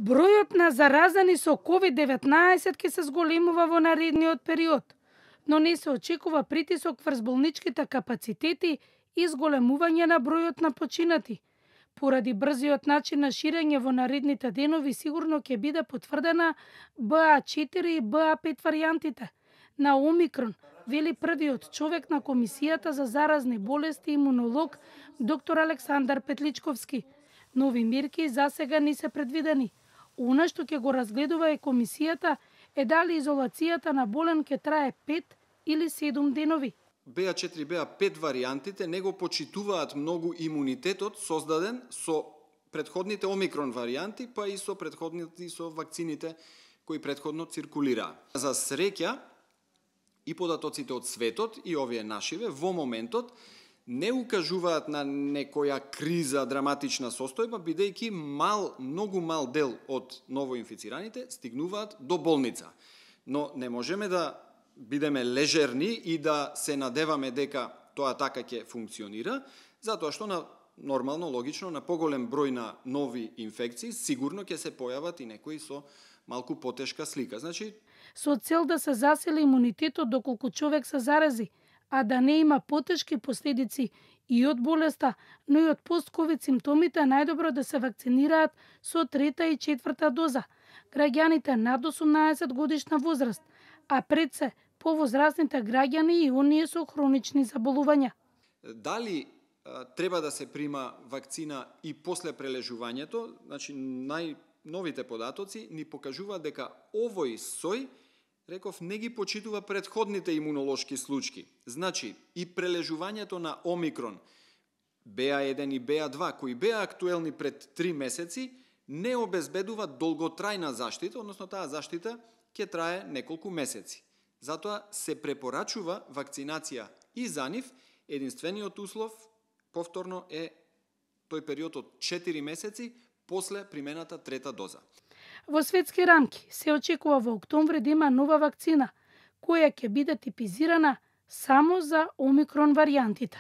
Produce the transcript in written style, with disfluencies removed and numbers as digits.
Бројот на заразени со COVID-19 ќе се зголемува во наредниот период, но не се очекува притисок врз болничките капацитети и зголемување на бројот на починати. Поради брзиот начин на ширење во наредните денови сигурно ќе биде потврдена BA4 и BA5 варијантите на Омикрон, вели првиот човек на Комисијата за заразни болести имунолог доктор Александар Петличковски. Нови мерки засега не се предвидени. Она што ќе го разгледува е комисијата е дали изолацијата на болен ќе трае 5 или 7 денови. BA4 и BA5 варијантите не го почитуваат многу имунитетот создаден со претходните Омикрон варијанти, па и со претходните со вакцините кои претходно циркулираа. За среќа и податоците од светот и овие нашиве во моментот не укажуваат на некоја криза, драматична состојба, бидејќи многу мал дел од новоинфицираните стигнуваат до болница. Но не можеме да бидеме лежерни и да се надеваме дека тоа така ќе функционира, затоа што нормално, логично, на поголем број на нови инфекции, сигурно ќе се појават и некои со малку потешка слика. Значи, со цел да се засили имунитетот доколку човек се зарази, а да не има потешки последици и од болеста, но и од пост-ковид симптомите, најдобро да се вакцинираат со 3-та и 4-та доза граѓаните над 18 годишна возраст, а пред се повозрастните граѓани и оние со хронични заболувања. Дали треба да се прима вакцина и после прележувањето? Значи, најновите податоци ни покажуваат дека овој сој, реков, не ги почитува претходните имунолошки случаи. Значи, и прележувањето на Омикрон, BA1 и BA2, кои беа актуелни пред 3 месеци, не обезбедува долготрајна заштита, односно таа заштита ќе трае неколку месеци. Затоа се препорачува вакцинација и за нив. Единствениот услов, повторно, е тој период од 4 месеци после примената 3-та доза. Во светски рамки се очекува во октомври да има нова вакцина, која ќе биде типизирана само за Омикрон варијантите.